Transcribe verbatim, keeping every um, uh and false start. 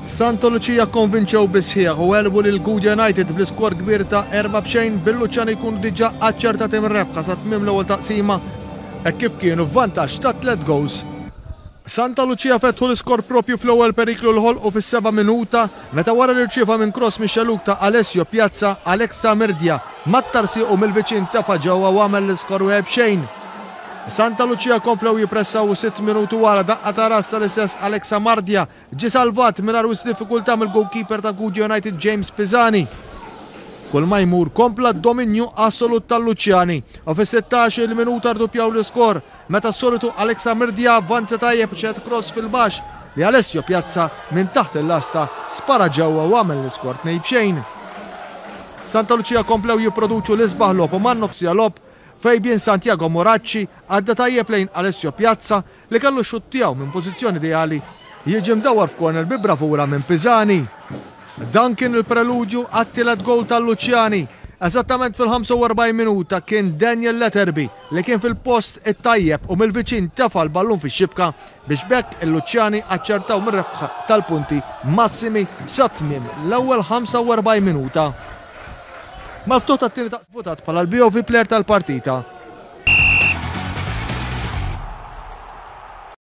Santa Lucia konvinċew bis-sħiħ u għelbu lil Gudja United bl-iskor kbir ta' erba' b'xejn, bil-Luċjani jkunu diġà aċċertati mir-rebħa sa tmiem l-ewwel taqsima hekk kif kienu f'vantaġġ ta' tliet goals. Santa Lucia fetħu l-iskor propju fl-ewwel periklu li ħolqu fis-seba' minuta, meta wara li rċieva minn cross mix-xellug ta' Alessio Piazza, Alexa Mirdja mattar siequ mill-viċin, tefa' ġewwa u għamel l-iskor wieħed b'xejn. Santa Lucia komplew jippressaw u sitt minuti wara daqqa ta' ras tal-istess Alexa Mardja ġie salvat mingħajr wisq diffikultà mill-goalkeeper ta' Gudja United, James Pisani. Kull ma jmur kompla d-dominju assolut tal-Luċjani u fis-sittax il minuta rduppjaw l-iskor meta s-solitu Alexa Mirdja avvanza tajjeb, xeħet cross fil-baxx li Alessio Piazza minn taħt il-lasta spara ġewwa u għamel l-iskor tnejn b'xejn. Santa Lucia komplew jipproduċu l-isbaħ logħob u man-nofs siegħa logħob Fabian Santiago Moracci għadda tajjeb lejn Alessio Piazza li kellu xutt tiegħu minn pożizzjoni ideali jiġi mdawar f'corner bi bravura minn Pisani. Dan kien il-preludju għat-tielet gol tal-Luċjani. Eżattament fil-ħamsa u erbgħin minuta kien Daniel Letterby li kien fil-post it-tajjeb u mill-viċin tefa l-ballun fix-xibka biex b'hekk il-Luċjani aċċertaw mir-rebħa tal-punti massimi sa tmiem l-ewwel ħamsa u erbgħin minuta. Mal-ftuħ tat-tieni taqsima votat bħala l-B O V player tal-partita.